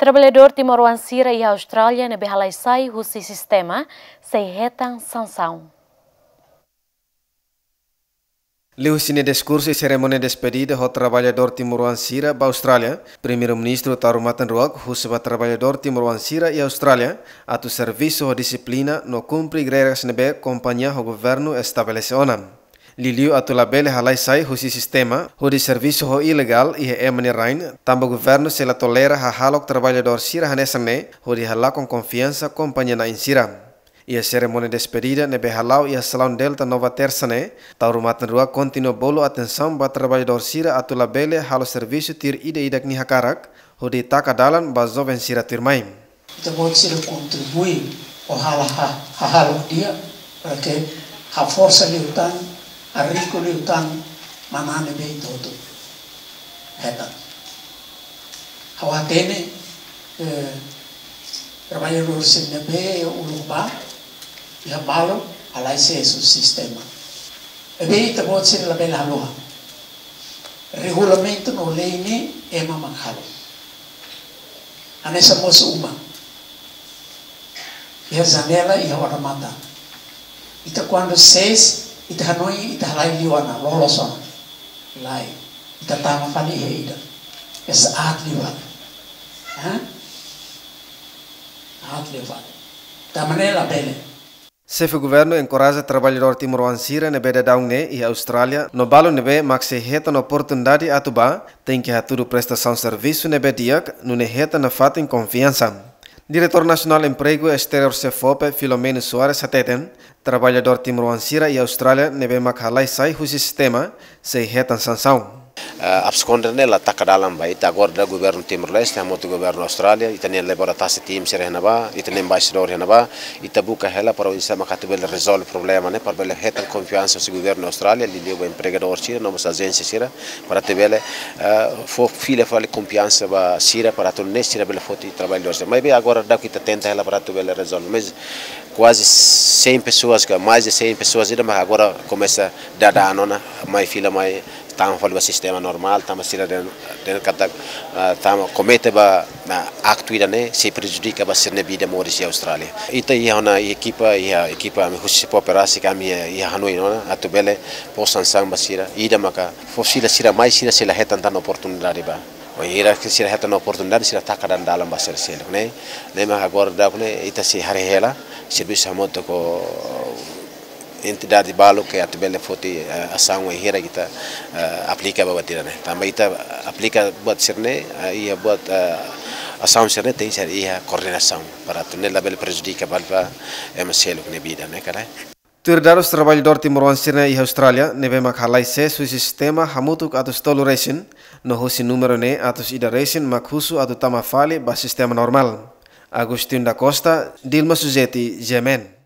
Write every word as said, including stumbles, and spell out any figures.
Traballadór timoroan sira iha Austrália ne'ebé halai sai husi sistema sei hetan sansaun. Liuhusi nia diskursu iha serimónia despedida ho traballadór timoroan sira ba Austrália, Primeiru-Ministru Taur Matan Ruak husu ba traballadór timoroan sira iha Austrália atu servisu ho dixiplina no kumpre regras ne'ebé kompañia ho governu estabelese ona. Liuliu atu labele halai sai husi sistema hodi servisu ho ilegál iha ema nia rain, tanba governu sei la tolera hahalok traballadór sira hanesan ne'e hodi halakon konfiansa kompañia na'in sira. Iha serimónia despedida ne'ebé hala'o iha Salaun Delta Nova Tersa ne'e, Taur Matan Ruak kontinua bolu atensaun ba traballadór sira atu labele halo servisu tuir ida-idak nia hakarak, hodi taka dalan ba joven sira tuirmai. Ita-boot sira kontribui ho halo ha-, hahalok di'ak, para ke haforsa liután, harinku liután manán ne'ebé ita hotu hetan. Ha'u hatene, eh, traballadór sira ne'ebé uluk bá, iha balu halai sai husi sistema. Ne'ebé ita-boot sira labele haluha. Regulamentu no lei ne'e ema mak halo. Hanesan mosu uma. Iha janela, iha odamatan. Ita kuandu sees, ita hanoin, ita halai liu ona, loloos ona. Lae, ita tama fali iha ida. Esa aat liu fali. Hah? Aat liu fali. Tanba ne'e labele. Xefe governu enkoraja traballadór timoroan sira ne'ebé daudaun ne'e iha Austrália, no balu ne'ebé mak sei hetan oportunidade atu bá, tenke hatudu prestasaun servisu ne'ebé di'ak, nune'e hetan nafatin konfiansa. Diretór Nasionál Empregu Esteriór SEFOPE, Filomeno Soares hateten, traballadór timoroan sira iha Austrália ne'ebé mak halai sai husi sistema, sei hetan sansaun. Ah, absconder ne'e la taka dalan ba ita, agora daudaun governu Timor-Leste, hamutuk governu Austrália, ita-nia Labour Task Team sira iha ne'ebá, ita-nia embaixadór iha ne'ebá, ita buka hela para oinsá mak atu bele rezolve problema ne'e, para bele hetan konfiansa husi governu Austrália, liuliu ba empregadór sira, no mós ajénsia sira, para atu bele, ah, fó fila fali konfiansa ba sira, para atu nune'e sira bele foti traballadór sira. Maibé agora daudaun ita tenta hela para atu bele rezolve. Mas kuaze cem pessoas, ke mais de cem pessoas ida, mas agora komesa daudaun ona, mai fila mai, tama fali ba sistema normál, tanba sira dehan, dehan katak, ah, tama komete ba, ah, aktu ida ne'e sei prejudika ba sira-nia vida moris iha Austrália. Ita iha ona ekipa, iha ekipa ami husi SEFOPE rasik ami iha, iha hanoin ona, atu bele fó sansaun ba sira, ida maka fó fila sira mai, sira sei la hetan tan oportunidade ba. Wainhira ke sira hetan oportunidade, sira taka tan dalan ba sira seluk ne'e. Ne'e mak agora daudaun ne'e ita sei haree hela, servisu hamutuk ho entidade balu ke atu bele foti, eh, asaun wainhira ita, eh, aplika ba buat ida ne'e. Tanba ita aplika buat sira-ne'e, eh, iha buat, eh, asaun sira-ne'e tenke iha koordenasaun para atu nune'e labele prejudika ba, ba ema seluk nia vida ne'e, ka lae. Tuir dadus, traballadór timoroan sira iha Austrália ne'ebé mak halai sees husi sistema hamutuk atus tolu resin, no husi númeru ne'e atus ida resin mak husu atu tama fali ba sistema normál. Agostinho da Costa, Dilma Suzeti, GMN.